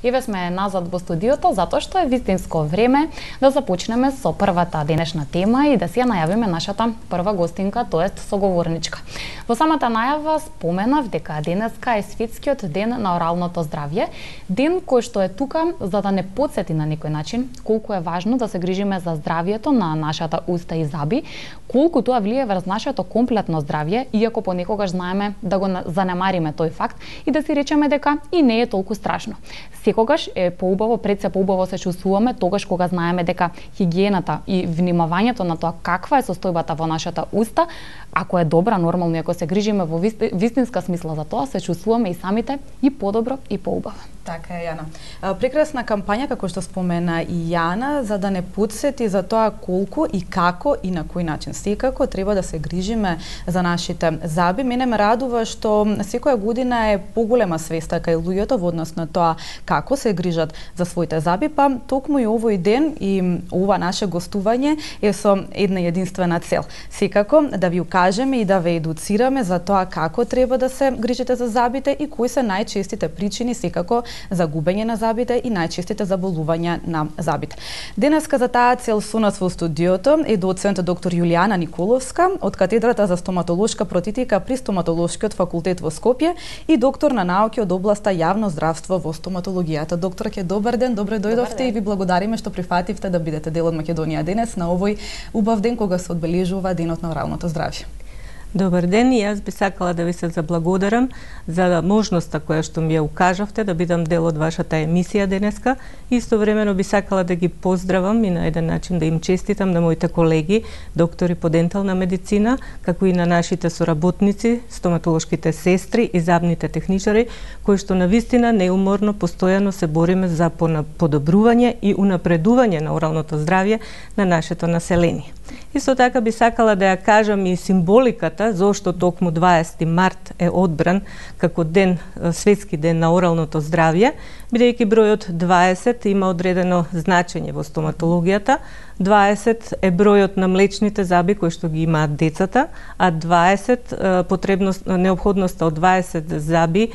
Еве сме назад во студиото затоа што е вистинско време да започнеме со првата денешна тема и да си ја најавиме нашата прва гостинка, тоест соговорничка. Во самата најава споменав дека денеска е светскиот ден на оралното здравје, ден кој што е тука за да не потсети на некој начин колку е важно да се грижиме за здравјето на нашата уста и заби, колку тоа влие врз нашето комплетно здравје, иако понекогаш знаеме да го занемариме тој факт и да си речеме дека и не е толку страшно. Секогаш е поубаво, пред се поубаво се чувствуваме тогаш кога знаеме дека хигиената и внимавањето на тоа каква е состојбата во нашата уста, ако е добра, нормално, ако се грижиме во вистинска смисла за тоа, се чувствуваме и самите и подобро и поубаво. Така е, Јана. Прекрасна кампања, како што спомена и Јана, за да не потсети за тоа колку и како и на кој начин секако треба да се грижиме за нашите заби. Мене ме радува што секоја година е поголема свеста кај луѓето во однос на тоа како се грижат за своите заби, па токму и овој ден и ова наше гостување е со една единствена цел. Секако да ви укажеме и да ве едуцираме за тоа како треба да се грижите за забите и кои се најчестите причини секако за губење на забите и најчестите заболувања на забите. Денеска за таа цел со нас во студиото е доцент доктор Јулијана Николовска од катедрата за стоматолошка протетика при Стоматолошкиот факултет во Скопје и доктор на науки од областа јавно здравство во стоматологијата. Докторке, добар ден, добро дојдовте и ви благодариме што прифативте да бидете дел од Македонија денес на овој убав ден кога се одбележува денот на оралното здравје. Добар ден, и јас би сакала да ви се заблагодарам за можноста која што ми ја укажавте да бидам дел од вашата емисија денеска. Истовремено би сакала да ги поздравам и на еден начин да им честитам на моите колеги, доктори по дентална медицина, како и на нашите соработници, стоматолошките сестри и забните техничари, кои што навистина неуморно постојано се бориме за подобрување и унапредување на оралното здравје на нашето население. Исто така би сакала да ја кажам и символиката зошто токму 20 март е одбран како ден, светски ден на оралното здравје, бидејќи бројот 20 има одредено значење во стоматологијата. 20 е бројот на млечните заби кои што ги имаат децата, а 20 неопходноста од 20 заби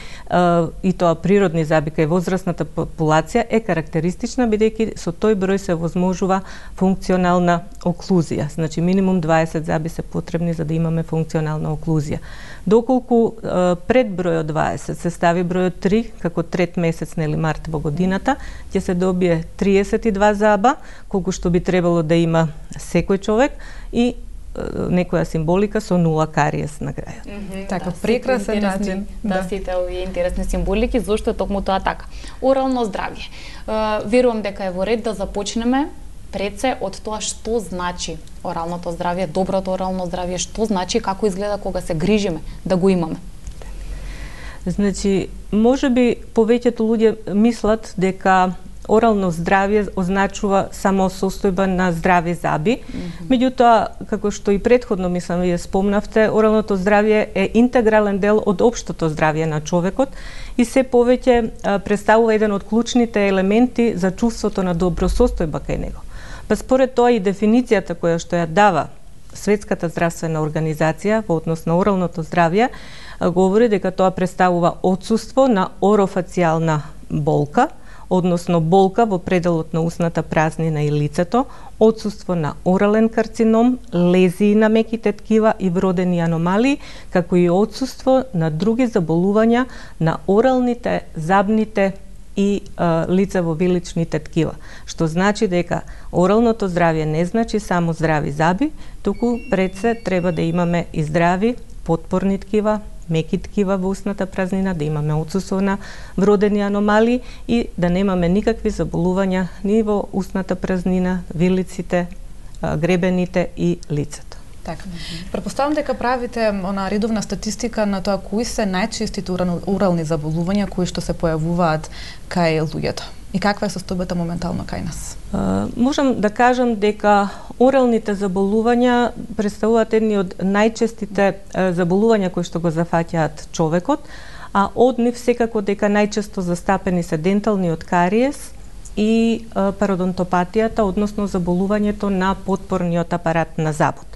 и тоа природни заби кај возрастната популација е карактеристична бидејќи со тој број се возможува функционална оклузија. Значи минимум 20 заби се потребни за да имаме функционална оклузија. Доколку пред бројот 20 се стави бројот 3 како трет месец нели март во годината, ќе се добие 32 заба, колку што би требало да има секој човек и некоја символика со 0 кариес на крајот. Така, прекрасен начин. Да, сите овие интересни символики, зошто е токму тоа така. Орално здравје. Верувам дека е во ред да започнеме пред се од тоа што значи оралното здравје, доброто орално здравје, што значи, како изгледа кога се грижиме да го имаме. Значи, можеби повеќето луѓе мислат дека орално здравје означува само состојба на здрави заби. Меѓутоа, како што и претходно мислам вие спомнавте, оралното здравје е интегрален дел од општото здравје на човекот и се повеќе представува еден од клучните елементи за чувството на добро состојба кај него. Па според тоа и дефиницијата која што ја дава Светската здравствена организација во однос на оралното здравје говори дека тоа представува отсуство на орофацијална болка, односно болка во пределот на устната празнина и лицето, отсуство на орален карцином, лезии на меките ткива и вродени аномалии, како и отсуство на други заболувања на оралните, забните и лицево-виличните ткива. Што значи дека оралното здравје не значи само здрави заби, туку пред се треба да имаме и здрави потпорни ткива, меки ткива во устната празнина, да имаме отсуство на вродени аномалии и да немаме никакви заболувања ни во устната празнина, вилиците, гребените и лицето. Така. Претпоставам дека правите она редовна статистика на тоа кои се најчестите орални заболувања кои што се појавуваат кај луѓето. И каква е состојбата моментално кај нас? Можам да кажам дека оралните заболувања представуваат едни од најчестите заболувања кои што го зафаќаат човекот, а од нив секако дека најчесто застапени се денталниот кариес и пародонтопатијата, односно заболувањето на потпорниот апарат на забот.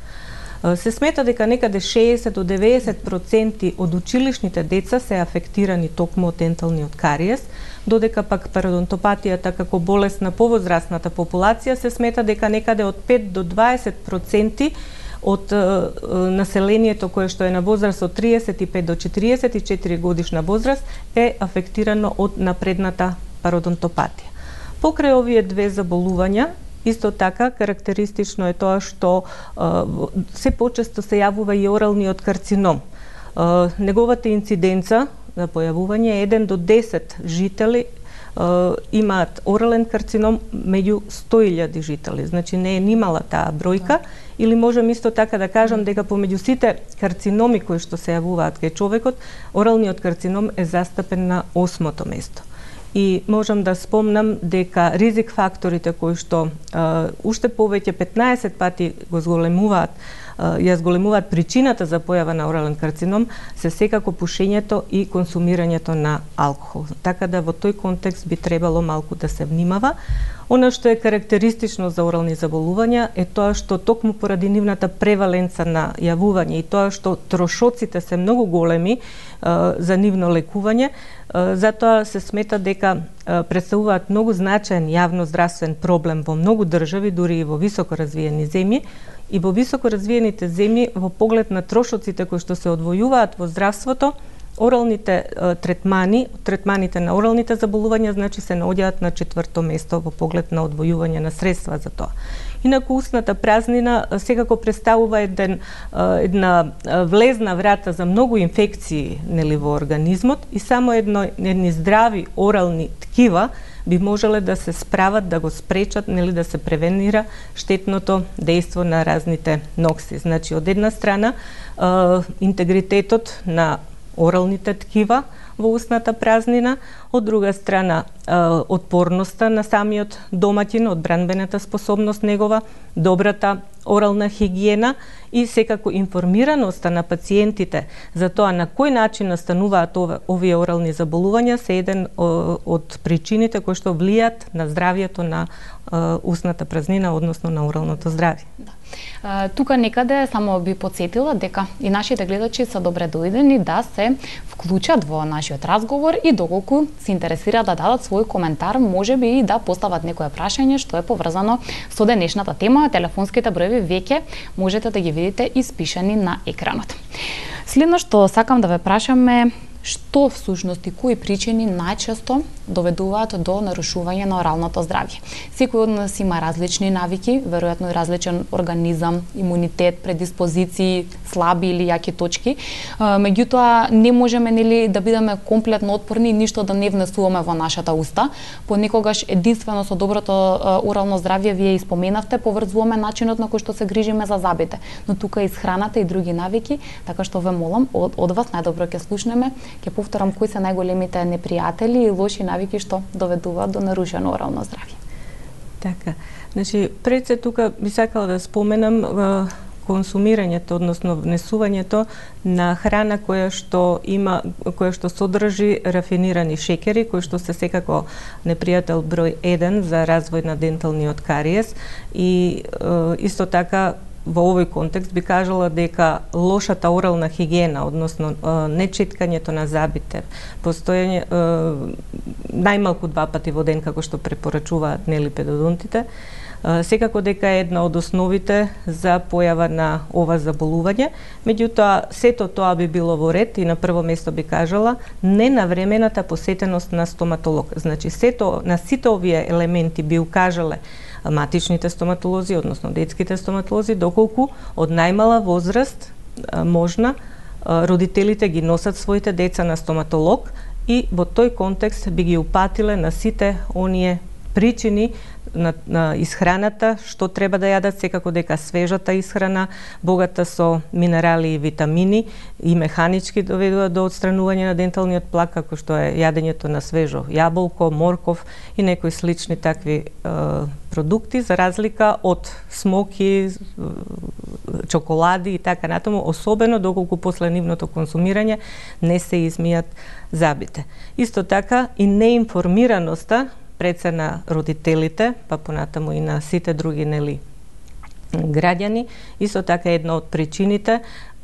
Се смета дека некаде 60 до 90% од училишните деца се афектирани токму од денталниот кариес, додека пак пародонтопатијата како болест на повозрасната популација се смета дека некаде од 5 до 20% од населението кое што е на возраст од 35 до 44 годишна возраст е афектирано од напредната пародонтопатија. Покрај овие две заболувања, исто така карактеристично е тоа што се почесто се јавува и оралниот карцином. Неговата инциденца за појавување е 1 до 10 жители имаат орален карцином меѓу 100.000 жители. Значи не е нимала таа бројка, или можам исто така да кажам дека помеѓу сите карциноми кои што се јавуваат кај човекот, оралниот карцином е застапен на 8-то место. И можам да спомнам дека ризик факторите кои што уште повеќе 15 пати го зголемуваат, ја зголемуваат причината за појава на орален карцином, се секако пушењето и консумирањето на алкохол. Така да во тој контекст би требало малку да се внимава. Она што е карактеристично за орални заболувања е тоа што токму поради нивната преваленца на јавување и тоа што трошоците се многу големи за нивно лекување, затоа се смета дека представуваат многу значаен јавно-здравствен проблем во многу држави, дури и во високо развиени земји. И во високо развиените земји, во поглед на трошоците кои што се одвојуваат во здравството, оралните третманите на оралните заболувања, значи се наоѓаат на 4-то место во поглед на одвојување на средства за тоа. Инаку устната празнина секако представува една влезна врата за многу инфекции во организмот и само едни здрави орални ткива би можеле да се справат, да го спречат, да се превенира штетното дејство на разните нокси. Значи, од една страна, интегритетот на оралните ткива во устната празнина, од друга страна отпорноста на самиот домаќин, одбранбената способност негова, добрата орална хигиена и секако информираноста на пациентите за тоа на кој начин настануваат овие орални заболувања се еден од причините кои што влијат на здравјето на устната празнина, односно на оралното здравје. Да. Тука некаде само би подсетила дека и нашите гледачи се добре дојдени да се вклучат во нашиот разговор и доколку се интересираат да дадат свој коментар, можеби и да постават некое прашање што е поврзано со денешната тема. Телефонските броеви веќе можете да ги видите испишани на екранот. Следно што сакам да ве прашаме, што всушност и кои причини најчесто доведуваат до нарушување на оралното здравје? Секој од нас има различни навики, веројатно и различен организам, имунитет, предиспозиции, слаби или јаки точки. Меѓутоа не можеме да бидеме комплетно отпорни и ништо да не внесуваме во нашата уста. Понекогаш единствено со доброто орално здравје, вие испоменавте, поврзуваме начинот на кој што се грижиме за забите, но тука исхраната и други навики, така што ве молам од вас најдобро ќе слушнеме. Ќе повторам кои се најголемите непријатели и лоши навики што доведуваат до нарушено орално здравје. Така, значи пред се тука би сакала да споменам консумирањето, односно внесувањето на храна која што содржи рафинирани шеќери, кои што се секако непријател број 1 за развој на денталниот кариес и исто така во овој контекст би кажала дека лошата орална хигиена, односно нечиткањето на забите, постојање најмалку 2 пати во ден како што препорачуваат педодонтите, секако дека е една од основите за појава на ова заболување. Меѓутоа, сето тоа би било во ред и на прво место би кажала ненавремената посетеност на стоматолог. Значи, на сите овие елементи би укажале матичните стоматолози, односно детските стоматолози, доколку од најмала возраст можна родителите ги носат своите деца на стоматолог и во тој контекст би ги упатиле на сите оние причини на исхраната, што треба да јадат, секако дека свежата исхрана, богата со минерали и витамини и механички доведува до отстранување на денталниот плак, како што е јадењето на свежо јаболко, морков и некои слични такви продукти, за разлика од смоки, чоколади и така натаму, особено доколку после нивното консумирање не се измијат забите. Исто така и неинформираноста пред се на родителите, па понатаму и на сите други граѓани. Исто така една од причините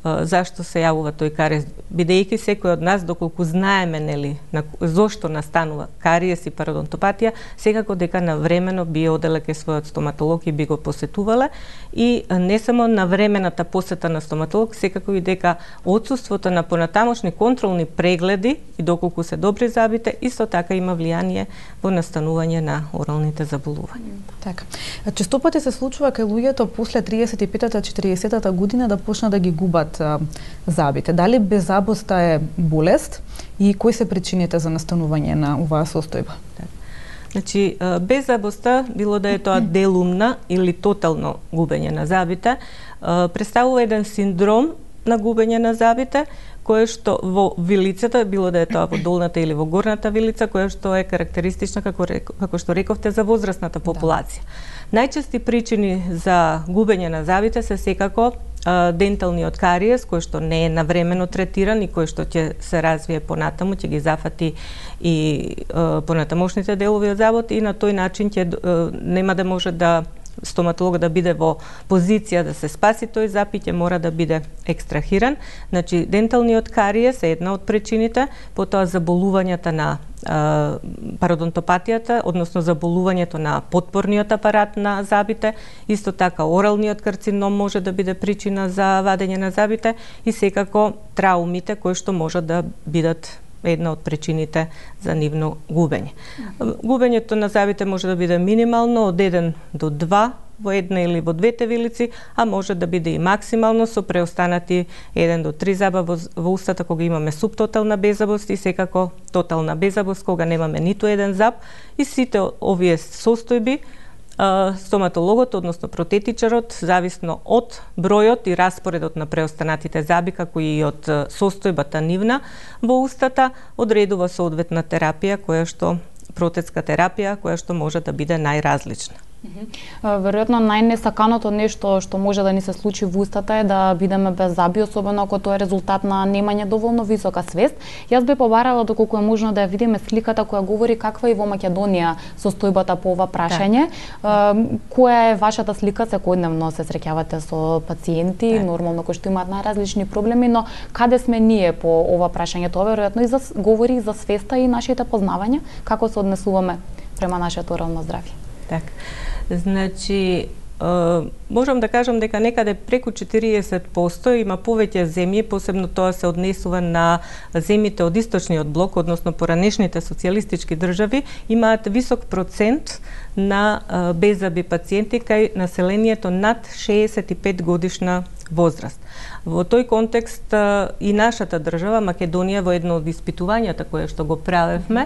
зашто се јавува тој кариес, бидејќи секој од нас, доколку знаеме нели зошто настанува кариес и пародонтопатија, секако дека навремено би оделе кај својот стоматолог и би го посетувале, и не само навремената посета на стоматолог, секако и дека отсуството на понатамошни контролни прегледи и доколку се добри забите, исто така има влијание во настанување на оралните заболувања. Така. Често пати се случува кај луѓето после 35-та, 40-та година да почнат да ги губат забите. Дали беззабоста е болест и кои се причините за настанување на оваа состојба? Значи, беззабоста, било да е тоа делумна или тотално губење на забите, представува еден синдром на губење на забите, кое што во вилицата, било да е тоа во долната или во горната вилица, кое што е карактеристична, како што рековте, за возрастната популација. Најчести причини за губење на забите се секако денталниот кариес, кој што не е навремено третиран и кој што ќе се развие понатаму, ќе ги зафати и понатамошните делови од забот, и на тој начин нема да може да стоматологот да биде во позиција да се спаси тој зап и ќе мора да биде екстрахиран. Значи, денталниот кариес е една од причините, потоа заболувањата на пародонтопатијата, односно заболувањето на потпорниот апарат на забите, исто така оралниот карцином може да биде причина за вадење на забите, и секако траумите кои што можат да бидат една од причините за нивно губење. Губењето на забите може да биде минимално од 1 до 2 во една или во двете вилици, а може да биде и максимално со преостанати 1 до 3 заба во устата кога имаме субтотална беззабост, и секако тотална беззабост кога немаме ниту еден заб. И сите овие состојби стоматологот, односно протетичарот, зависно од бројот и распоредот на преостанатите заби, како и од состојбата нивна во устата, одредува соодветна терапија, протетска терапија, која што може да биде најразлична. Веројатно најнесаканото нешто што може да ни се случи во устата е да бидеме без заби, особено ако тоа е резултат на немање доволно висока свест. Јас би побарала доколку е можно да ја видиме сликата која говори каква е во Македонија состојбата по ова прашање. Која е вашата слика? Секојдневно се среќавате со пациенти, нормално кои што имаат најразлични проблеми, но каде сме ние по ова прашање? Тоа веројатно и говори за свеста и нашите познавања, како се однесуваме према нашето орално здравје. Така. Значи, можам да кажам дека некаде преку 40% има повеќе земји, посебно тоа се однесува на земјите од источниот блок, односно поранешните социјалистички држави, имаат висок процент на беззаби пациенти кај населението над 65 годишна возраст. Во тој контекст и нашата држава, Македонија, во едно од испитувањата кое што го правевме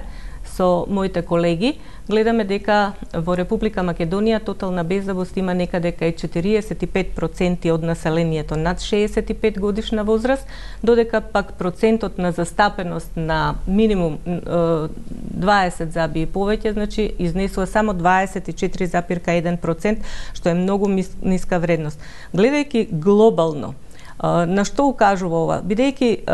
со моите колеги, гледаме дека во Република Македонија тотална беззабост има некаде кај 45% од населението над 65 годишна возраст, додека пак процентот на застапеност на минимум 20 заби и повеќе, значи изнесува само 24,1%, што е многу ниска вредност. Гледајќи глобално, на што укажува ова? Бидејќи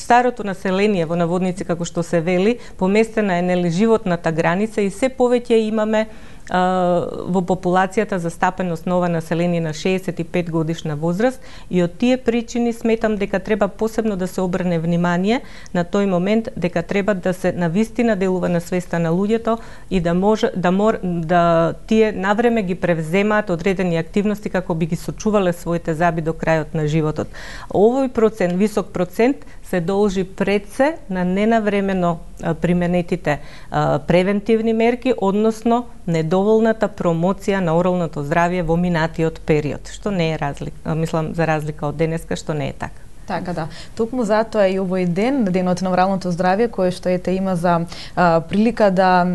старото население, во наводници како што се вели, поместена е животната граница и се повеќе имаме во популацијата застапеност на ова население на 65 годишна возраст, и од тие причини сметам дека треба посебно да се обрне внимание на тој момент, дека треба да се навистина делува на свеста на луѓето и да тие навреме ги превземаат одредени активности како би ги сочувале своите заби до крајот на животот. Овој висок процент се должи пред се на ненавремено применетите превентивни мерки, односно недоволната промоција на оралното здравје во минатиот период, што не е за разлика од денеска, што не е така. Така, да. Токму затоа и овој ден, денот на оралното здравје, кој што има за прилика да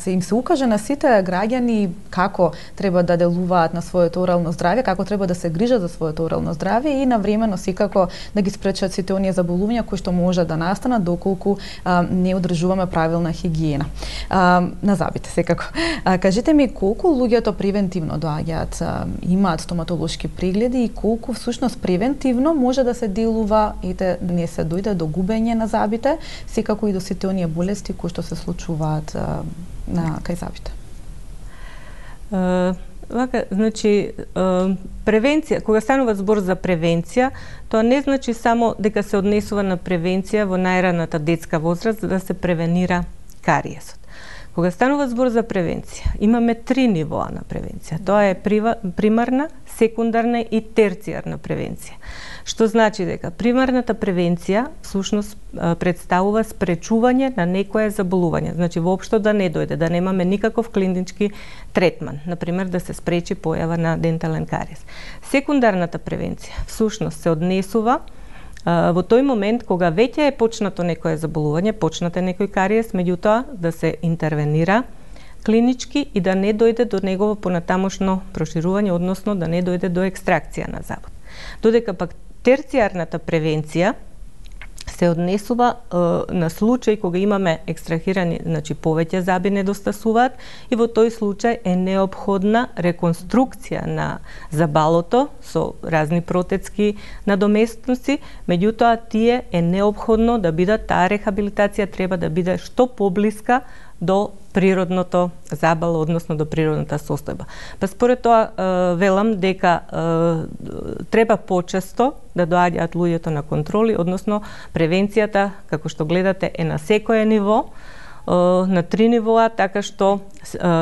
им се укаже на сите граѓани како треба да делуваат на своето орално здравје, како треба да се грижат за своето орално здравје и навремено секако да ги спречат сите оние заболувања кои што може да настанат доколку не одржуваме правилна хигиена на забите секако. Кажете ми колку луѓето превентивно доаѓаат, имаат стоматолошки прегледи и колку всушност превентивно може да се делува и да не се дојде до губење на забите, секако и до сите оние болести кои што се случуваат на кај забите. Вака, значи, превенција, кога станува збор за превенција, тоа не значи само дека се однесува на превенција во најраната детска возраст за да се превенира кариесот. Кога станува збор за превенција, имаме 3 нивоа на превенција. Тоа е примарна, секундарна и терцијарна превенција. Што значи дека примарната превенција всушност представува спречување на некое заболување. Значи воопшто да не дојде, да немаме никаков клинички третман, например да се спречи појава на дентален кариес. Секундарната превенција всушност се однесува во тој момент кога веќе е почнато некое заболување, почнате некој кариес, меѓутоа да се интервенира клинички и да не дојде до негово понатамошно проширување, односно да не дојде до екстракција на забот. Додека пак терцијарната превенција се однесува на случај кога имаме екстрахирани, значи повеќе заби недостасуваат и во тој случај е неопходна реконструкција на забалото со разни протетски надоместници, меѓутоа тие е неопходно да бидат, таа рехабилитација треба да биде што поблиска до природното забало, односно до природната состојба. Па според тоа велам дека треба почесто да доаѓаат луѓето на контроли, односно превенцијата, како што гледате, е на секое ниво, на 3 нивоа, така што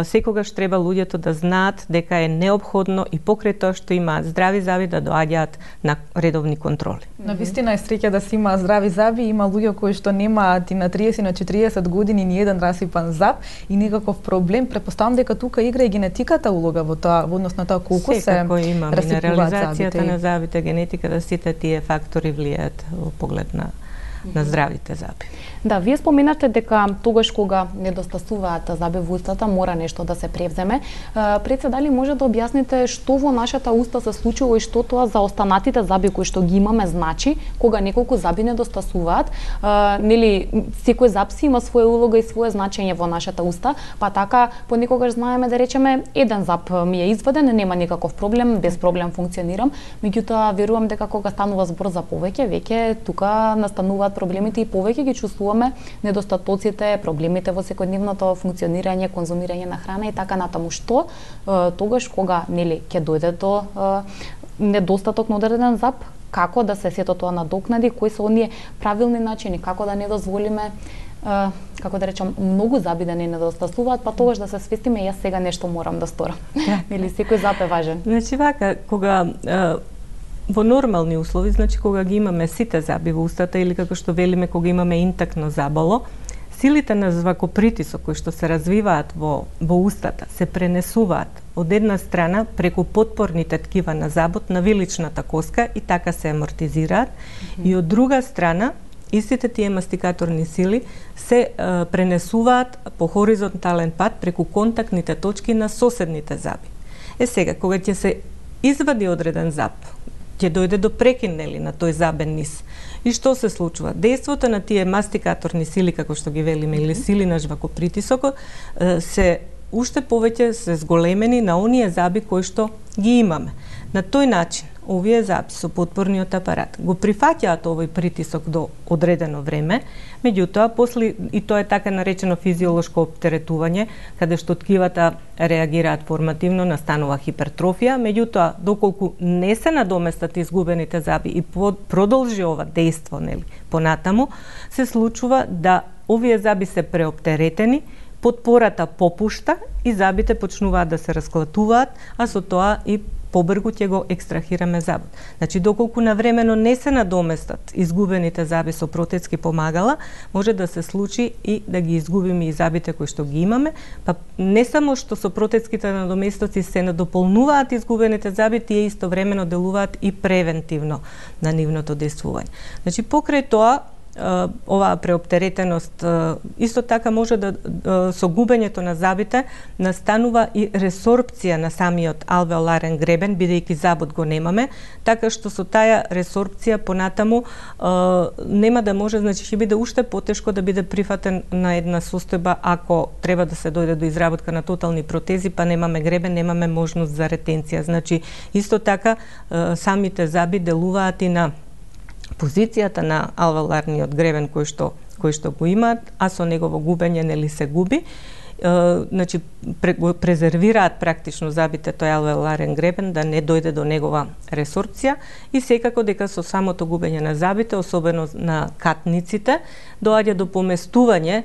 секогаш треба луѓето да знаат дека е неопходно и покрај тоа што имаат здрави заби да доаѓаат на редовни контроли. На вистина е среќа да се има здрави заби, има луѓе кои што немаат и на 30 на 40 години ни еден расипан заб и никаков проблем. Претпоставам дека тука игра и генетиката улога во тоа, во однос на тоа колку се има минерализацијата на забите, генетиката, сите тие фактори влијаат во поглед на здравите заби. Да, вие споменате дека тогаш кога недостасуваат заби во устата мора нешто да се превземе. Пред се дали може да објасните што во нашата уста се случува и што тоа за останатите заби кои што ги имаме значи кога неколку заби недостасуваат? Нели секој заб си има своја улога и свое значење во нашата уста, па така понекогаш знаеме да речеме еден заб ми е изваден, нема никаков проблем, без проблем функционирам, меѓутоа верувам дека кога станува збор за повеќе, веќе тука настануваат проблемите и повеќе ги чувствуваме недостатоците, проблемите во секојдневното функционирање, конзумирање на храна и така натаму. Што тогаш кога нели ќе дојде до недостаток на одреден зап, како да се сето тоа надокнади, кои се оние правилни начини, како да не дозволиме како да речам, многу заби да не недостасуваат, па тогаш да се свестиме јас сега нешто морам да сторам. Или секој зап е важен. Значи вака, кога во нормални услови, значи кога ги имаме сите заби во устата или како што велиме кога имаме интактно забало, силите на звакопритисок кои што се развиваат во устата се пренесуваат од една страна преку потпорните ткива на забот на виличната коска и така се амортизираат и од друга страна истите тие мастикаторни сили се пренесуваат по хоризонтален пат преку контактните точки на соседните заби. Сега, кога ќе се извади одреден заб, ќе дојде до прекин на тој забен низ. И што се случува? Дејството на тие мастикаторни сили, како што ги велиме, или сили на жвакопритисокот, се уште повеќе се зголемени на оние заби кои што ги имаме. На тој начин, овие заби со потпорниот апарат го прифаќаат овој притисок до одредено време, меѓутоа, после, и тоа е така наречено физиолошко оптеретување, каде што ткивата реагираат формативно, настанува хипертрофија, меѓутоа, доколку не се надоместат изгубените заби и продолжи ова дејство, понатаму, се случува да овие заби се преоптеретени, потпората попушта и забите почнуваат да се расклатуваат, а со тоа и побргу ќе го екстрахираме забот. Значи, доколку навремено не се надоместат изгубените заби со протетски помагала, може да се случи и да ги изгубиме и забите кои што ги имаме, па не само што со протетските надоместоци се надополнуваат изгубените заби, тие истовремено делуваат и превентивно на нивното дејствување. Значи, покрај тоа, оваа преоптеретеност исто така може да со губењето на забите настанува и ресорпција на самиот алвеоларен гребен, бидејќи забот го немаме, така што со таа ресорпција понатаму нема да може, значи ќе биде уште потешко да биде прифатен на една состојба ако треба да се дојде до изработка на тотални протези, па немаме гребен, немаме можност за ретенција. Значи исто така самите заби делуваат и на позицијата на алвеоларниот гребен кој што го имаат, а со негово губење се губи значи презервираат практично забите тој алвеоларен гребен да не дојде до негова ресорбција и секако дека со самото губење на забите, особено на катниците, доаѓа до поместување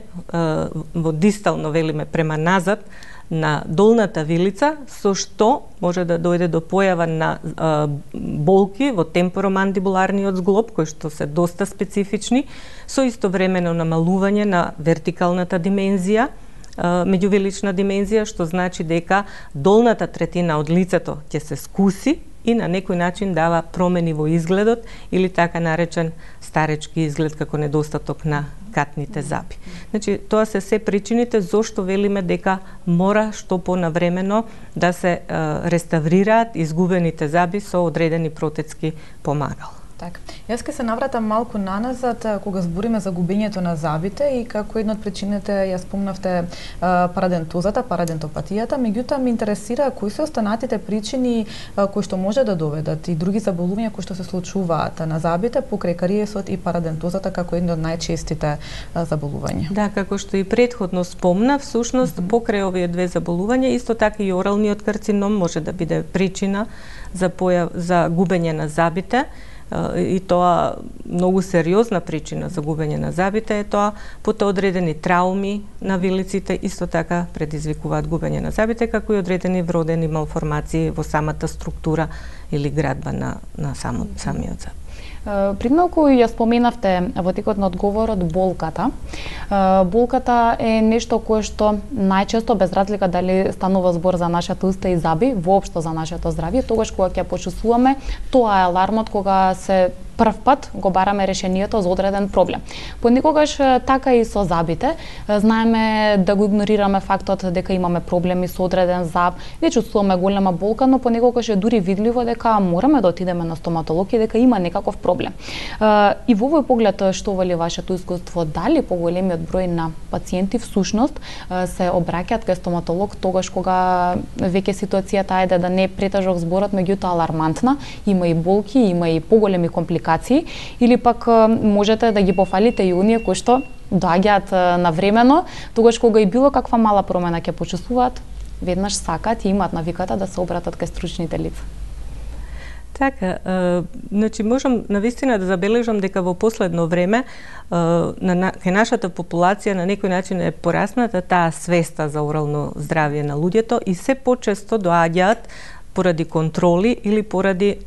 во дистално, велиме, према назад на долната вилица, со што може да дојде до појава на болки во темпоромандибуларниот зглоб, кои што се доста специфични, со истовремено намалување на вертикалната димензија, меѓувилична димензија, што значи дека долната третина од лицето ќе се скуси и на некој начин дава промени во изгледот или така наречен старечки изглед како недостаток на катните заби. Значи, тоа се причините зошто велиме дека мора што понавремено да се реставрираат изгубените заби со одредени протетски помагала. Така. Јас ке се навратам малку наназад кога збориме за губењето на забите и како една од причините ја спомнавте парадентозата, парадентопатијата, меѓутоа ме интересира кои се останатите причини кои што може да доведат и други заболувања кои што се случуваат на забите покрај кариесот и парадентозата како една од најчестите заболувања. Да, како што и претходно спомна, всушност покрај овие две заболувања исто така и оралниот карцином може да биде причина за губење на забите. И тоа многу сериозна причина за губење на забите е тоа, потоа одредени трауми на вилиците исто така предизвикуваат губење на забите, како и одредени вродени малформации во самата структура или градба на самиот заб. Прималку ја споменавте во текот на одговорот болката. Болката е нешто кое што најчесто, без разлика дали станува збор за нашата уста и заби, воопшто за нашето здравје, тогаш кога ќе почувствуваме, тоа е алармот кога се прв пат го бараме решението за одреден проблем. Понекогаш така и со забите, знаеме да го игнорираме фактот дека имаме проблеми со одреден заб, не чувствуваме голема болка, но понекогаш е дури видливо дека мораме да отидеме на стоматолог и дека има некаков проблем. И во овој поглед, што вели вашето искуство, дали поголемиот број на пациенти всушност се обраќаат кај стоматолог тогаш кога веќе ситуацијата ајде да не е претежок зборот, меѓутоа алармантна, има и болки, има и поголеми компликации, или пак можете да ги пофалите и оние кои што доаѓаат навремено, тогаш кога и било каква мала промена ќе почувствуваат, веднаш сакаат и имаат навиката да се обратат кај стручните лица. Така, значи можам навистина да забележам дека во последно време кај нашата популација на некој начин е порасната таа свеста за орално здравје на луѓето и се почесто доаѓаат поради контроли или поради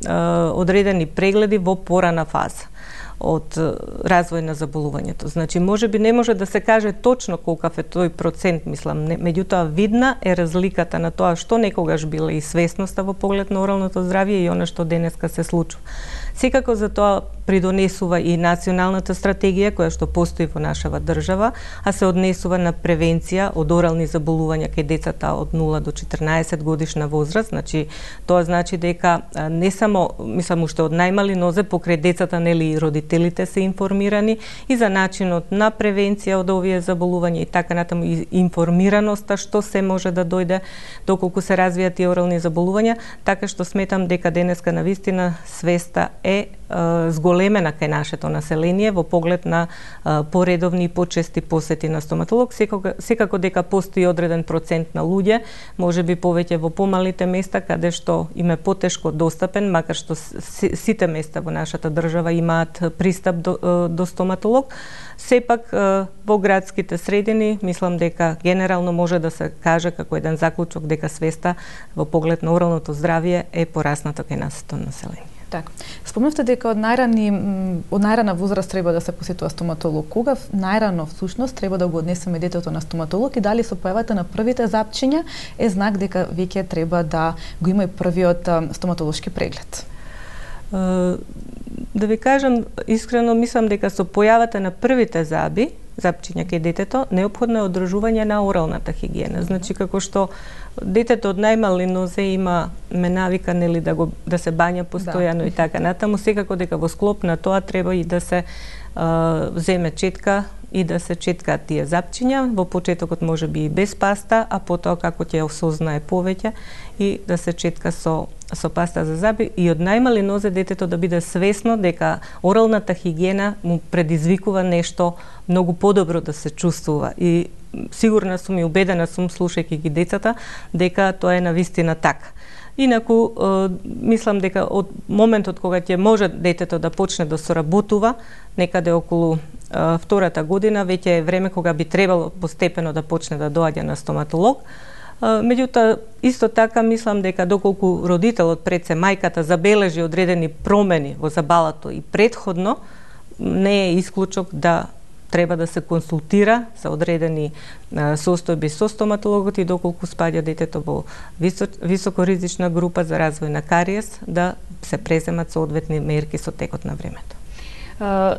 одредени прегледи во порана фаза од развој на заболувањето. Значи, можеби не може да се каже точно колкав е тој процент, мислам, меѓутоа видна е разликата на тоа што некогаш била и свесноста во поглед на оралното здравје и она што денеска се случува. Секако за тоа придонесува и националната стратегија која што постои во нашава држава, а се однесува на превенција од орални заболувања кај децата од 0 до 14 годишна возраст. Значи, тоа значи дека не само, мислам, уште од најмали нозе покрај децата, нели и родителите се информирани и за начинот на превенција од овие заболувања и така натаму и информираноста што се може да дојде доколку се развијат и орални заболувања, така што сметам дека денеска навистина свеста е зголемена кај нашето население во поглед на поредовни и почести посети на стоматолог. Секако дека постои одреден процент на луѓе, можеби повеќе во помалите места каде што им е потешко достапен, макар што сите места во нашата држава имаат пристап до стоматолог. Сепак во градските средини мислам дека генерално може да се каже како еден заклучок дека свеста во поглед на оралното здравје е порасната кај нашето население. Така. Спомнавте дека од најрана возраст треба да се посетува стоматолог. Кога најрано всушност треба да го однесеме детето на стоматолог и дали со појавата на првите запчиња е знак дека веќе треба да го има и првиот стоматолошки преглед? Да ви кажам, искрено мислам дека со појавата на првите запчиња кај детето, неопходно е одржување на оралната хигиена. Значи, како што детето од најмали нозе има навика, нели, да се бања постојано и така натаму, секако дека во склоп на тоа треба и да се земе четка и да се четкаат тие запчиња, во почетокот може би и без паста, а потоа како ќе осознае повеќе и да се четка со паста за заби и од најмали нозе детето да биде свесно дека оралната хигиена му предизвикува нешто многу подобро да се чувствува и сигурна сум и убедена сум, слушајќи ги децата, дека тоа е навистина така. Инаку, мислам дека од моментот кога ќе може детето да почне да соработува, некаде околу втората година, веќе е време кога би требало постепено да почне да доаѓа на стоматолог. Меѓутоа, исто така мислам дека доколку родителот, пред се мајката, забележи одредени промени во забалото и предходно, не е исклучок да треба да се консултира за одредени состојби со стоматологот и доколку спаѓа детето во високоризична група за развој на кариес, да се преземат соодветни мерки со текот на времето.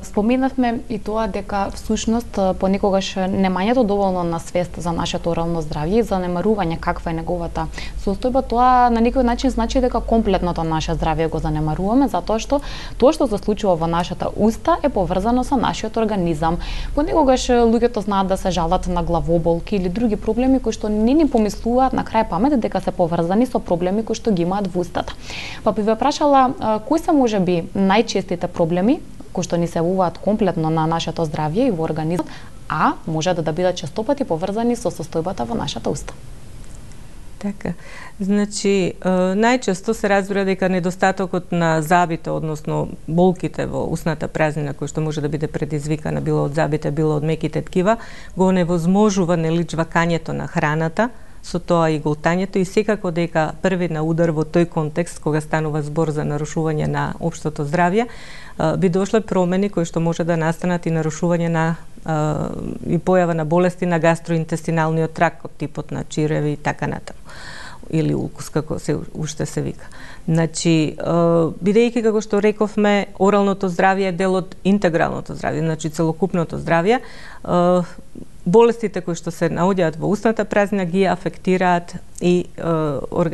Споменавме и тоа дека всушност понекогаш немањето доволно на свест за нашето орално здравје и занемарување каква е неговата состојба, тоа на некој начин значи дека комплетното наше здравје го занемаруваме, затоа што тоа што се случува во нашата уста е поврзано со нашиот организам. Понекогаш луѓето знаат да се жалат на главоболки или други проблеми кои што не ни помислуваат на крај памет дека се поврзани со проблеми кои што ги имаат во устата. Па би ве прашала кои се можеби најчестите проблеми кои што ни се јавуваат комплетно на нашето здравје и во организмот, а може да бидат честопати поврзани со состојбата во нашата уста. Така. Значи, најчесто се разбира дека недостатокот на забите, односно болките во устната празнина, кој што може да биде предизвикана било од забите, било од меките ткива, го невозможува жвакањето на храната, со тоа и голтањето, и секако дека први на удар во тој контекст, кога станува збор за нарушување на општото здравје, би дошле промени кои што може да настанат и нарушување на и појава на болести на гастроинтестиналниот тракт, од типот на чиреви и така натаму, или улкус, како се уште се вика. Значи, бидејќи, како што рековме, оралното здравје е дел од интегралното здравје, значи целокупното здравје, болестите кои што се наоѓаат во устната празнина ги афектираат и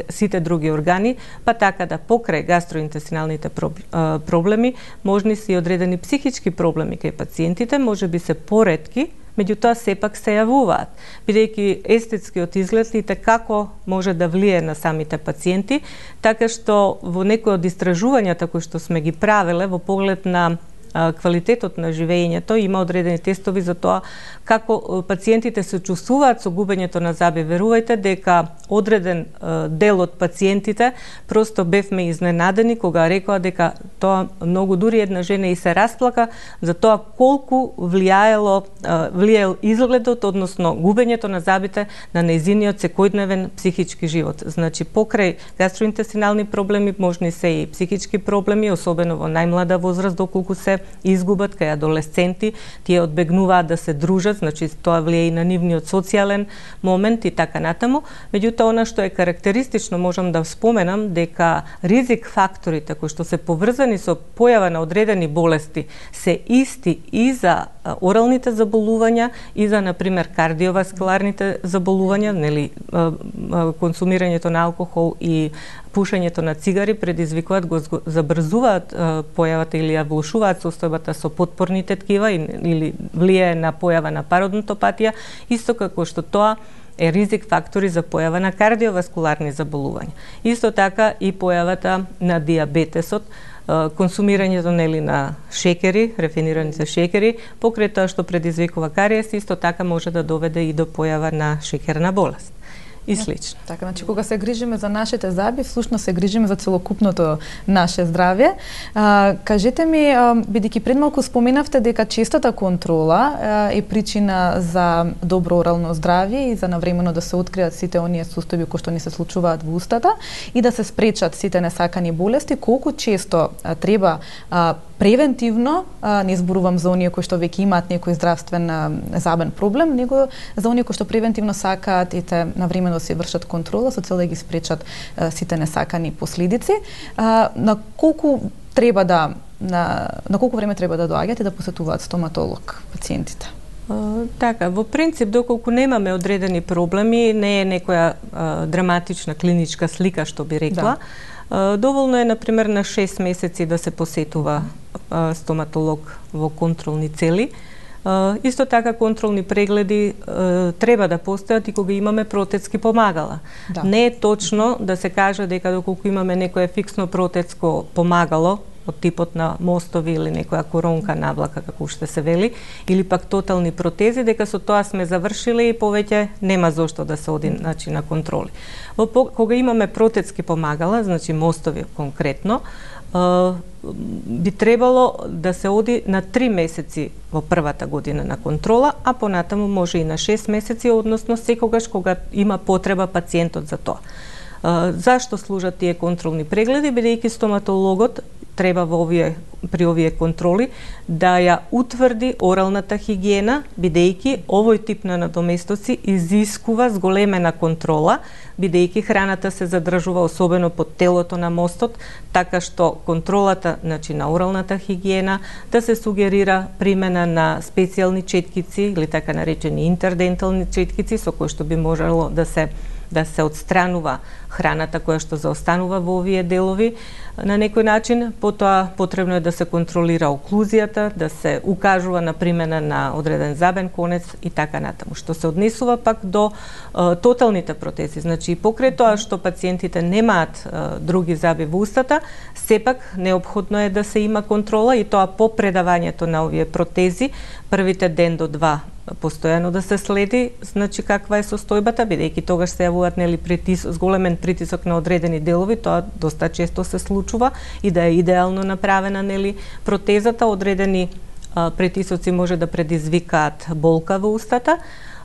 сите други органи, па така да покрај гастроинтестиналните проблеми, можни се и одредени психички проблеми кај пациентите, може би се поретки, меѓутоа сепак се јавуваат, бидејќи естетскиот изглед и како може да влие на самите пациенти, така што во некои од истражувањата кои што сме ги правеле во поглед на квалитетот на живењето, има одредени тестови за тоа како пациентите се чувствуваат со губењето на заби. Верувајте дека одреден дел од пациентите просто бевме изненадени кога рекоа дека тоа многу, дури една жена и се расплака за тоа колку влијаел изгледот, односно губењето на забите на нејзиниот секојдневен психички живот. Значи, покрај гастроинтестинални проблеми можни се и психички проблеми, особено во најмлада возраст, доколку се изгубат кај адолесценти, тие одбегнуваат да се дружат, значи тоа влие и на нивниот социјален момент и така натаму. Меѓутоа, она што е карактеристично, можам да споменам дека ризик факторите кои што се поврзани со појава на одредени болести се исти и за оралните заболувања и за, например, кардиоваскуларните заболувања, нели, консумирањето на алкохол и пушењето на цигари предизвикуваат, го забрзуваат појавата или ја влошуваат состојбата со потпорните ткива или влијае на појава на пародонтопатија, исто како што тоа е ризик фактори за појава на кардиоваскуларни заболувања. Исто така и појавата на диабетесот, консумирањето нели на шекери, рафинираните шекери, покрај тоа што предизвикува кариес, исто така може да доведе и до појава на шекерна болест и слично. Така, значи кога се грижиме за нашите заби, всушност се грижиме за целокупното наше здравје. Кажете ми, бидејќи пред малку споменавте дека честата контрола е причина за добро орално здравје и за навремено да се откријат сите оние состојби кои што ни се случуваат во устата и да се спречат сите несакани болести, колку често треба превентивно, не зборувам за оние кои што веќе имаат некој здравствен забен проблем, него за оние кои што превентивно сакаат и те навремено да се вршат контрола со цел да ги спречат сите несакани последици. На колку треба на колку време треба да доаѓаат и да посетуваат стоматолог пациентите? Така, во принцип, доколку немаме одредени проблеми, не е некоја драматична клиничка слика, што би рекла. Да. Доволно е, например, на 6 месеци да се посетува стоматолог во контролни цели. Исто така контролни прегледи треба да постојат и кога имаме протетски помагала. Да. Не е точно да се каже дека доколку имаме некое фиксно протетско помагало, од типот на мостови или некоја коронка навлака, како уште се вели, или пак тотални протези, дека со тоа сме завршили и повеќе нема зошто да се оди на контроли. Кога имаме протетски помагала, значи мостови конкретно, би требало да се оди на 3 месеци во првата година на контрола, а понатаму може и на 6 месеци, односно секогаш кога има потреба пациентот за тоа. Зашто служат тие контролни прегледи? Бидејќи стоматологот треба при овие контроли да ја утврди оралната хигиена, бидејќи овој тип на надоместоци изискува зголемена контрола, бидејќи храната се задржува особено под телото на мостот, така што контролата, значи на оралната хигиена, да се сугерира примена на специјални четкици или така наречени интердентални четкици со кои што би можело да се отстранува храната која што заостанува во овие делови на некој начин. Потоа потребно е да се контролира оклузијата, да се укажува на примена на одреден забен конец и така натаму. Што се однесува пак до тоталните протези, значи покрај тоа што пациентите немаат други заби во устата, сепак неопходно е да се има контрола и тоа по предавањето на овие протези, првите ден до 2 постојано да се следи, значи каква е состојбата, бидејќи тогаш се јавуваат зголемен притисок на одредени делови, тоа доста често се случува и да е идеално направена протезата, одредени притисоци може да предизвикаат болка во устата,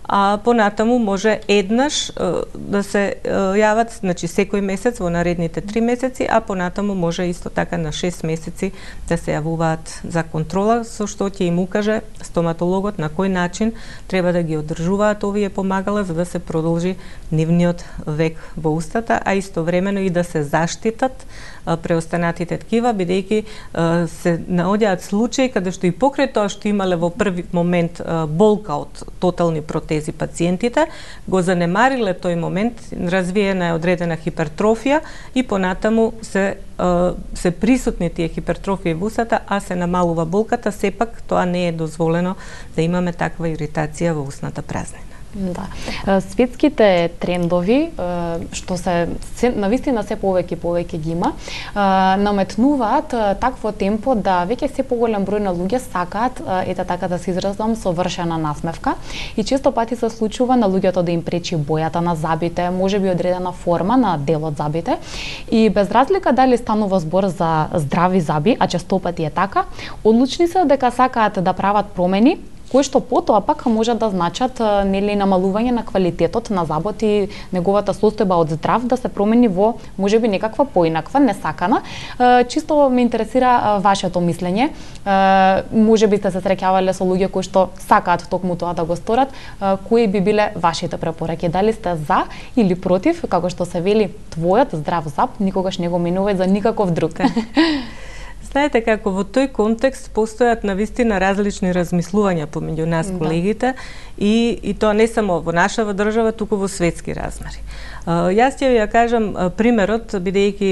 а понатаму може еднаш да се јават, значи секој месец во наредните 3 месеци, а понатаму може исто така на 6 месеци да се јавуваат за контрола, со што ќе им укаже стоматологот на кој начин треба да ги одржуваат овие помагала за да се продолжи нивниот век во устата, а истовремено и да се заштитат преостанатите ткива, бидејќи се наоѓаат случаи каде што и покрај тоа што имале во први момент болка од тотални протези пациентите, го занемариле тој момент, развиена е одредена хипертрофија и понатаму се присутни тие хипертрофија во устата, а се намалува болката, сепак тоа не е дозволено да имаме таква иритација во устната празнина. Да. Светските трендови, што се навистина се повеќе ги има, наметнуваат такво темпо да веќе се поголем број на луѓе сакаат, ете така да се изразам, совршена насмевка и често пати се случува на луѓето да им пречи бојата на забите, можеби одредена форма на дел од забите и без разлика дали станува збор за здрави заби, а често пати е така, одлучни се дека сакаат да прават промени кои што потоа пак може да значат намалување на квалитетот на забот и неговата состојба од здрав да се промени во можеби некаква поинаква, несакана. Чисто ме интересира вашето мислење. Можеби сте се среќавале со луѓе кои што сакаат токму тоа да го сторат. Кои би биле вашите препораки? Дали сте за или против, како што се вели, твојот здрав заб никогаш не го менувај за никаков друг? Знаете како во тој контекст постојат навистина различни размислувања помеѓу нас колегите и тоа не само во нашава држава, туку во светски размери. Јас ќе ја кажам примерот, бидејќи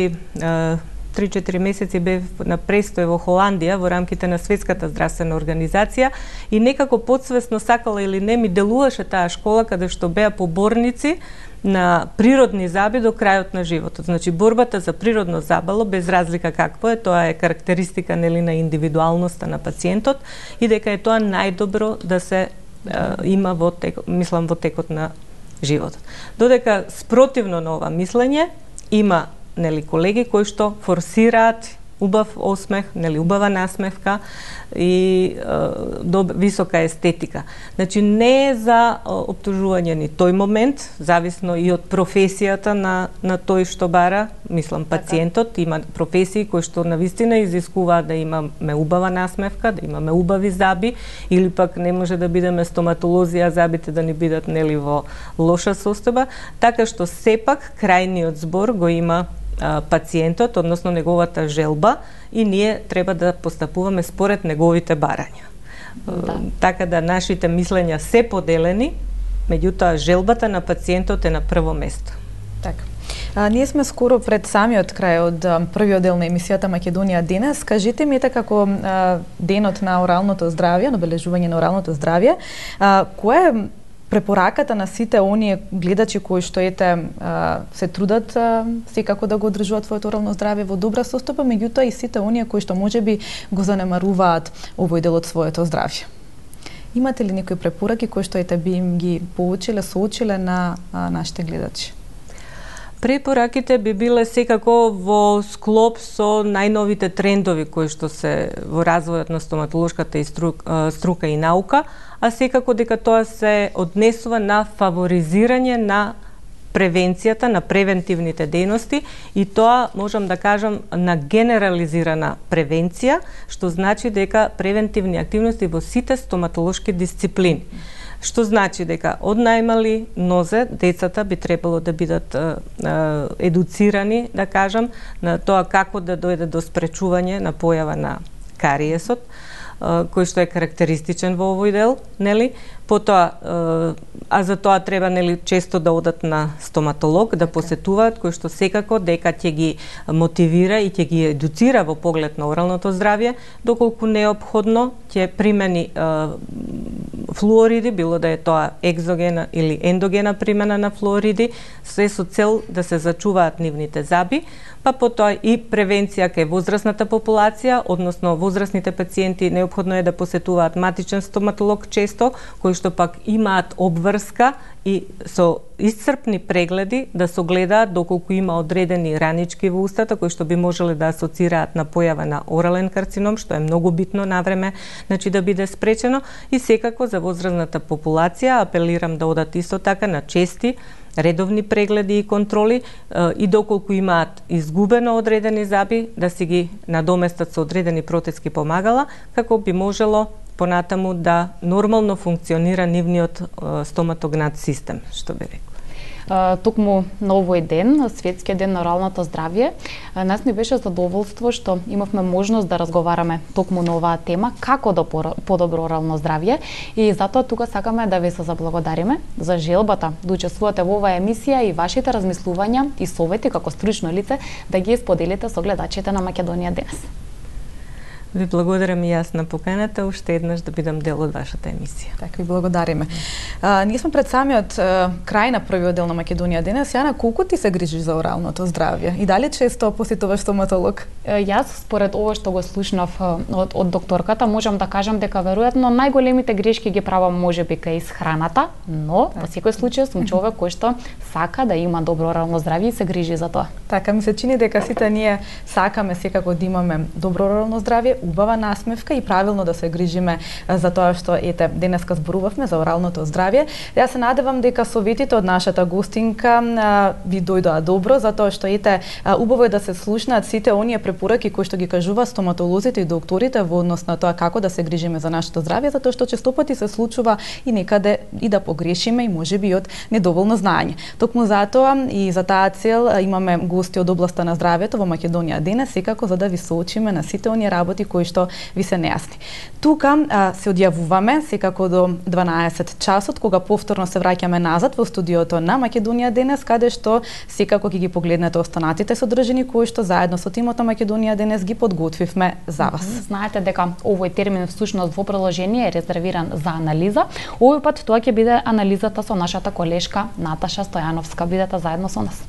3-4 месеци бев на престој во Холандија во рамките на Светската здравствена организација и некако подсвесно, сакала или не, ми делуваше таа школа каде што беа поборници на природни заби до крајот на животот. Значи борбата за природно забало без разлика какво е, тоа е карактеристика на индивидуалноста на пациентот и дека е тоа најдобро да се има во текот на животот. Додека спротивно на ова мислење има колеги кои што форсираат убав осмех, убава насмевка и висока естетика. Значи не е за оптужување ни тој момент, зависно и од професијата на тој што бара, пациентот, има професии кои што навистина изискуваат да имаме убава насмевка, да имаме убави заби, или пак не може да бидеме стоматолози, а забите да ни бидат во лоша состојба, така што сепак крајниот збор го има пациентот, односно неговата желба, и ние треба да постапуваме според неговите барања. Така да нашите мислења се поделени, меѓутоа желбата на пациентот е на прво место. Така. Ние сме скоро пред самиот крај од првиот дел на емисијата Македонија денес. Кажете ми, како денот на оралното здравје, на обележување на оралното здравје, кој е препораката на сите оние гледачи кои што се трудат секако да го одржуваат своето орално здравје во добра состојба, меѓутоа и сите оние кои што можеби го занемаруваат овој дел од своето здравје. Имате ли некои препораки кои што би им ги поучиле, соучиле на нашите гледачи? Препораките би биле секако во склоп со најновите трендови кои што се во развојот на стоматолошката и струка и наука, а секако дека тоа се однесува на фаворизирање на превенцијата, на превентивните дејности и тоа можам да кажам на генерализирана превенција, што значи дека превентивни активности во сите стоматолошки дисциплини. Што значи дека од најмали нозе децата би требало да бидат едуцирани, да кажам, на тоа како да дојде до спречување на појава на кариесот, кој што е карактеристичен во овој дел, нели? Потоа, а за тоа треба нели често да одат на стоматолог, да посетуваат, кој што секако дека ќе ги мотивира и ќе ги едуцира во поглед на оралното здравје, доколку неопходно ќе примени флуориди, било да е тоа екзогена или ендогена примена на флуориди, се со цел да се зачуваат нивните заби, па потоа и превенција кај возрастната популација, односно возрастните пациенти неопходно е да посетуваат матичен стоматолог често, кои што пак имаат обврска и со исцрпни прегледи да согледаат доколку има одредени ранички во устата кои што би можеле да асоцираат на појава на орален карцином, што е многу битно навреме, значи да биде спречено, и секако за возрастната популација апелирам да одат исто така на чести редовни прегледи и контроли и доколку имаат изгубено одредени заби, да си ги надоместат со одредени протезки помагала, како би можело понатаму да нормално функционира нивниот стоматогнат систем, што би рекла. Токму на овој ден, Светскиот ден на оралното здравје, нас ни беше задоволство што имавме можност да разговараме токму на оваа тема, како да подобро орално здравје, и затоа тука сакаме да ви се заблагодариме за желбата да учествувате во оваа емисија и вашите размислувања и совети како стручно лице да ги споделите со гледачите на Македонија денес. Ви благодарам и јас на поканата, уште еднаш да бидам дел од вашата емисија. Така, ви благодариме. Ние сме пред самиот крај на првиот дел на Македонија денес. Јана, колку ти се грижиш за оралното здравје? И дали често посетуваш стоматолог? Јас, според ова што го слушнав од докторката, можам да кажам дека веројатно најголемите грешки ги правам можеби кај исхраната, но во секој случај сум човек кој што сака да има добро орално здравје и се грижи за тоа. Така, ми се чини дека сите ние сакаме секако да имаме добро орално здравје, убава насмевка и правилно да се грижиме за тоа што денеска зборувавме за оралното здравје. Јас се надевам дека советите од нашата гостинка ви дојдоа добро, затоа што убаво е да се слушнаат сите оние препораки кои што ги кажува стоматолозите и докторите во однос на тоа како да се грижиме за нашето здравје, затоа што честопати се случува и некаде и да погрешиме и можеби од недоволно знаење. Токму затоа и за таа цел имаме гости од областа на здравјето во Македонија денес, секако за да ви соочиме на сите оние работи кои што ви се нејасни. Тука се одјавуваме секако до 12 часот, кога повторно се враќаме назад во студиото на Македонија денес, каде што секако ќе ги погледнете останатите содржини кои што заедно со тимот на Македонија денес ги подготвивме за вас. Знаете дека овој термин всушност во продолжение е резервиран за анализа. Овој пат тоа ќе биде анализата со нашата колешка Наташа Стојановска. Бидете заедно со нас.